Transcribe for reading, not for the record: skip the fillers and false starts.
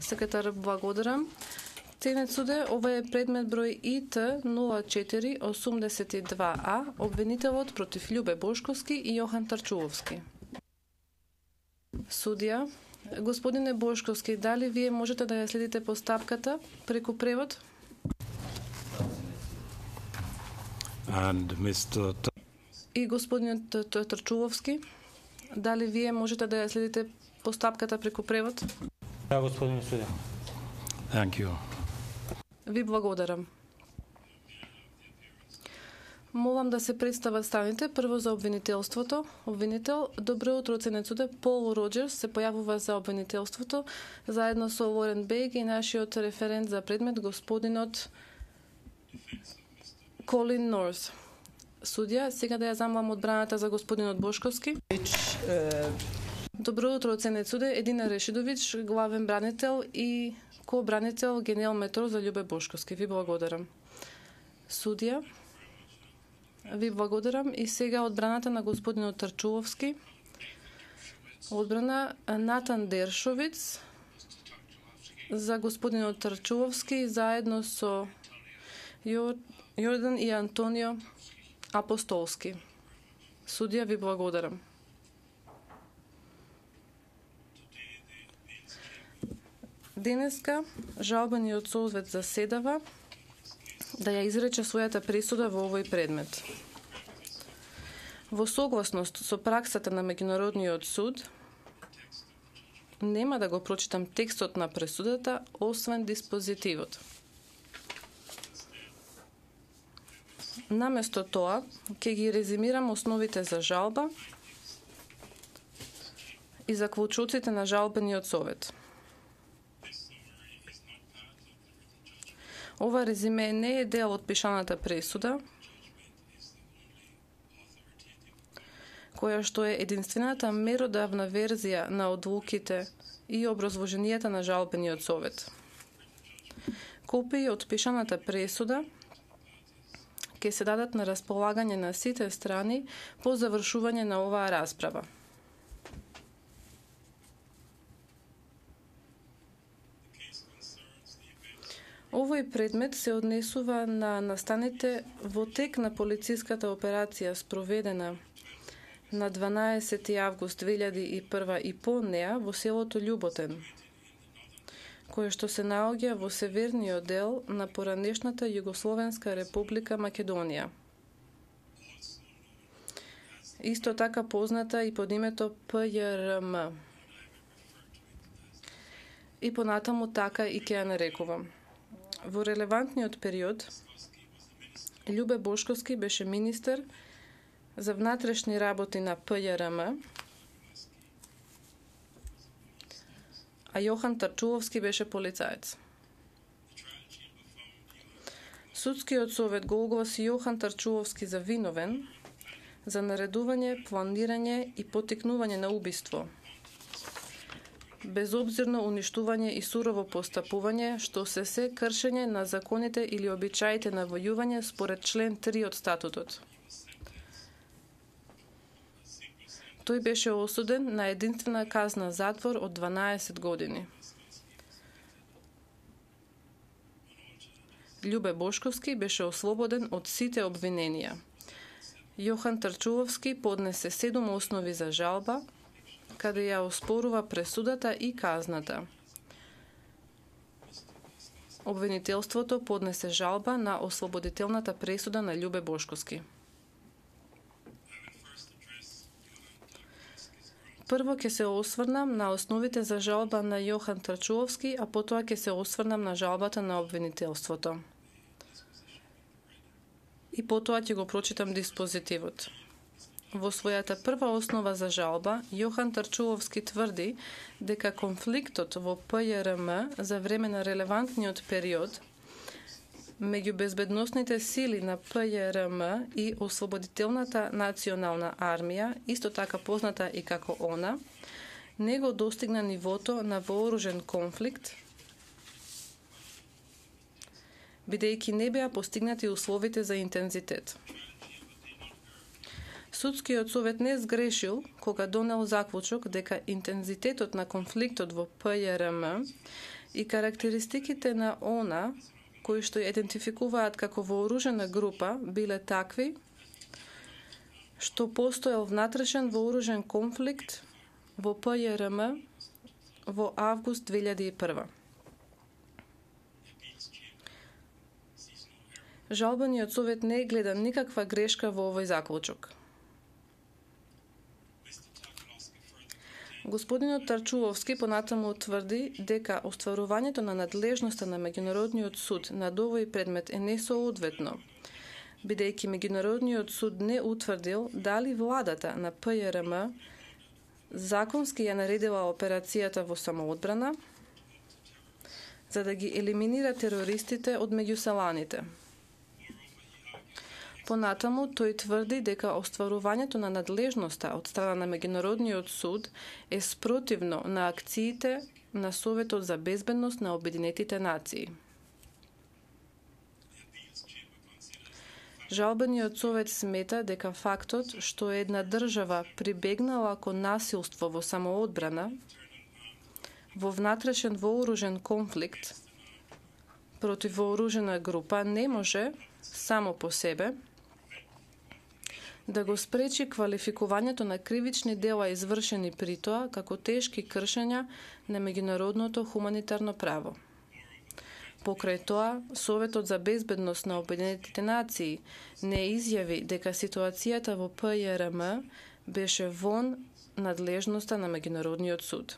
Секретар, благодарам. Ценет суде, ова е предмет број ИТ 0482А, обвинителот против Љубе Бошковски и Јохан Тарчувовски. Судија, господине Бошковски, дали вие можете да ја следите постапката преку превод? И господинот Тарчувовски, дали вие можете да ја следите постапката преку превод? Да, господин судија. Thank you. Ви благодарам. Молам да се представат страните. Прво за обвинителството. Обвинител, добро утро, ценет суде. Пол Роджерс се појавува за обвинителството, заедно со Лорен Бејг и нашиот референт за предмет, господинот Колин Норс. Судија, сега да ја замолам одбраната за господинот Бошковски. Добро утро, ценет суде. Едина Решидович, главен бранител и ко-бранител генерал метро за Љубе Бошковски. Ви благодарам. Судија, ви благодарам. И сега одбраната на господинот Тарчувовски. Одбрана Натан Дершовиц за господинот Тарчувовски, заедно со Јордан и Антонио Апостолски. Судија, ви благодарам. Денеска жалбениот совет заседава да ја изрече својата пресуда во овој предмет. Во согласност со праксата на Меѓународниот суд, нема да го прочитам текстот на пресудата, освен диспозитивот. Наместо тоа, ќе ги резимирам основите за жалба и заклучоците на жалбениот совет. Ова резиме не е дел од пишаната пресуда, која што е единствената меродавна верзија на одлуките и образложенијата на жалбениот совет. Копии од пишаната пресуда ќе се дадат на располагање на сите страни по завршување на оваа расправа. Овој предмет се однесува на настаните во тек на полициската операција спроведена на 12 август 2001 и по неа во селото Љуботен, кое што се наоѓа во северниот дел на поранешната Југословенска република Македонија. Исто така позната и под името ПЈРМ. И понатаму така и ќе ја нарекувам. Во релевантниот период, Љубе Бошковски беше министер за внатрешни работи на ПЈРМ, а Јохан Тарчувовски беше полицаец. Судскиот совет го огласи Јохан Тарчувовски за виновен за наредување, планирање и поттикнување на убиство, безобзирно уништување и сурово постапување, што се кршење на законите или обичаите на војување според член 3 од статутот. Тој беше осуден на единствена казна затвор од 12 години. Љубе Бошковски беше ослободен од сите обвиненија. Јохан Тарчувовски поднесе 7 основи за жалба, каде ја оспорува пресудата и казната. Обвинителството поднесе жалба на ослободителната пресуда на Љубе Бошковски. Прво ќе се осврнам на основите за жалба на Јохан Тарчувовски, а потоа ќе се осврнам на жалбата на обвинителството. И потоа ќе го прочитам диспозитивот. Во својата прва основа за жалба, Јохан Тарчувовски тврди дека конфликтот во ПЈРМ за време на релевантниот период меѓу безбедносните сили на ПЈРМ и Ослободителната национална армија, исто така позната и како ОНА, не го достигна нивото на вооружен конфликт, бидејќи не беа постигнати условите за интензитет. Судскиот совет не сгрешил кога донел заклучок дека интензитетот на конфликтот во ПЈРМ и карактеристиките на она кои што ја идентификуваат како вооружена група биле такви што постоел внатрешен вооружен конфликт во ПЈРМ во август 2001. Жалбениот совет не гледа никаква грешка во овој заклучок. Господинот Тарчуловски понатаму утврди дека остварувањето на надлежноста на Меѓународниот суд над овој предмет е несоодветно, бидејќи Меѓународниот суд не утврдил дали владата на ПЈРМ законски ја наредила операцијата во самоодбрана за да ги елиминира терористите од меѓуселаните. Понатаму, тој тврди дека остварувањето на надлежноста од страна на Меѓународниот суд е спротивно на акциите на Советот за безбедност на Обединетите нации. Жалбениот совет смета дека фактот што една држава прибегнала кон насилство во самоодбрана, во внатрешен вооружен конфликт против вооружена група не може само по себе да го спречи квалификувањето на кривични дела извршени при тоа како тешки кршења на меѓународното хуманитарно право. Покрај тоа, Советот за безбедност на Обединетите нации не изјави дека ситуацијата во ПЈРМ беше вон надлежноста на Меѓународниот суд.